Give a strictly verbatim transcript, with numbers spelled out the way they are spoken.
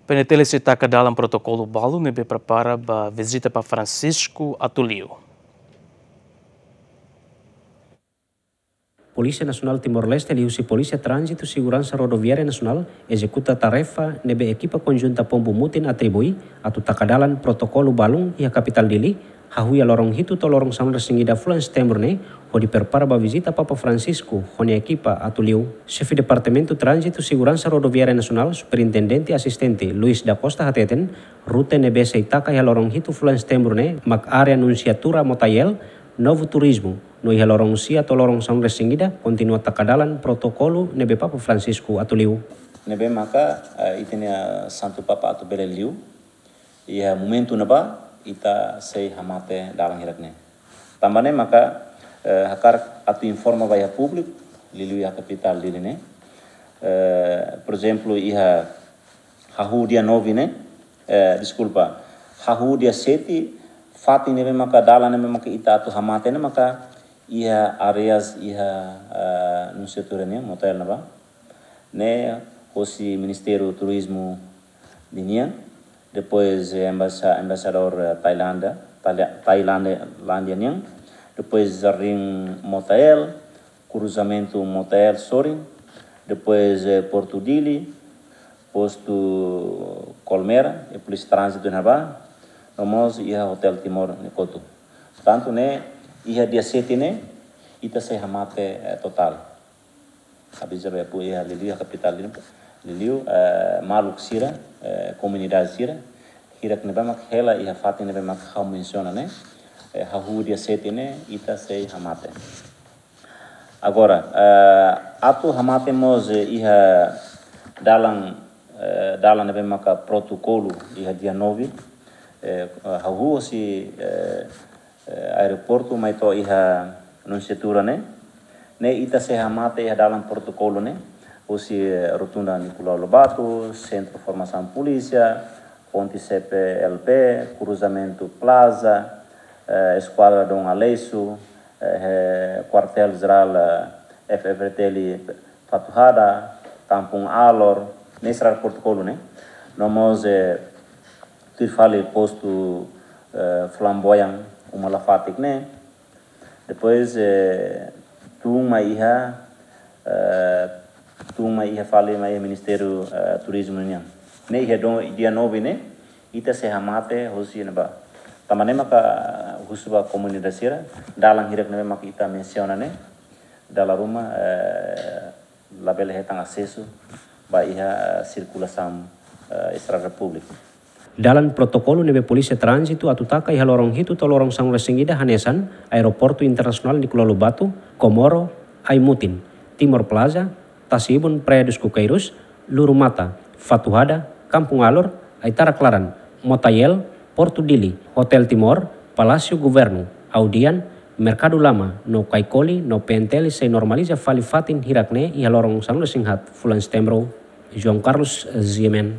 PNTL sei taka dalan protokolu balun ne'ebé prepara ba vizita Papa Francisco atu liu. Polísia Nasionál Timor-Leste liuhusi Polísia Tránzitu Seguransa Rodoviária Nasionál ezekuta tarefa ne'ebé ekipa konjunta Pombu Mutin atribui atu taka dalan protokolu balun iha kapitál Dili, hahú iha loron hitu to'o loron sanulu-resin-ida fulan Setembru ne'e, hodi prepara ba vizita Papa Francisco ho nia ekipa atu liu. Xefe Departamentu Tránzitu Seguransa Rodoviária Nasionál, Superintendente Asistente Luis da Costa hateten, rute ne'ebé sei taka iha loron hitu fulan Setembru ne'e mak área Nunciatura Motael, Novo Turismo, no iha loron sia to'o loron sanulu-resin-ida kontinua taka dalan protokolu ne'ebé Papa Francisco atu liu. Ne'ebé maka, eh, ita-nia Santu Papa atu bele liu, iha momentu ne'ebá ita sei hamate dalan hirak ne'e. Tanba ne'e maka, eh, hakarak atu informa ba iha públiku, liuliu iha kapitál Dili ne'e. Eh, por ezemplu, iha hahú dia nove ne'e, eh, deskulpa, hahú dia sete, fatin ne'ebé maka dalan ne'ebé maka ita atu hamate ne'e maka iha áreas iha, eh, Nunciatura nian, Motael ne'ebá. Ne'e hosi Ministériu Turizmu ninian, depois, eh, embasa-, embaixadór, eh, Tailándia, Taila-, Tailándia, Lándia nian, depois Jardín Motael, kruzamentu Motael sorin, depois, eh, Portu Dili, postu Colmera, i polísia tránzitu ne'ebá, no mós iha Hotel Timor nia kotuk. Portantu, ne'e, iha dia sete ne'e, ita sei hamate, eh, totál. Aviza ba iha pú iha liuliu, iha kapitál Dili, liuliu, eh, maluk sira, eh, komunidade sira, hirak ne'ebé mak hela iha fatin ne'ebé mak ha'u mensiona ne'e, eh, hahú dia sete ne'e, ita sei hamate. Agora, eh, atu hamate mós, eh, iha dalan, eh, dalan ne'ebé maka protokolu iha dia nove, eh, hahú hosi, eh, eh, aeroportu mai to'o iha Nunciatura ne'e, ne'e ita sei hamate iha dalan protokolu ne'e, hosi, eh, Rotunda Nicolau Lobato, Sentru Formasaun Polísia, Ponte C P L P, kruzamentu Plaza, eh, Eskuadra Dom Aleixo, eh, Kuartél Jerál, eh, F-FDTL Fatuhada, Kampung Alor, ne'e sira protokolu ne'e. No mós, eh, tuir fali postu, eh, Flamboyant, uma Lafatik ne'e. Depois, eh, tun mai iha, eh, tun mai iha fali mai iha Ministériu, eh, Turizmu nian. Ne'e iha do-, dia nove ne'e, ita sei hamate hosi ne'ebá. Tanba ne'e maka husu ba komunidade sira, dalan hirak ne'ebé maka ita mensiona ne'e, dala ruma, eh, labele hetan asesu ba iha, eh, sirkulasaun, eh, estrada públika. Dalan protokolu ne'ebé Polísia Tránzitu atu taka iha loron hitu to'o loron sanulu-resin-ida hanesan Aeroportu Internasionál Nicolau Lobato, Comoro, Aimutin, Timor Plaza, Tasi Ibun Praia dos Coqueiros, Lurumata, Fatuhada, Kampung Alor, Aitarak Laran, Motael, Portu Dili, Hotel Timor, Palásiu Governu, Audian, Merkadu Lama, no Caicoli, no PNTL sei normaliza fali fatin hirak ne'e iha loron sanulu-resin-haat fulan Setembru. João Carlos Ziemen.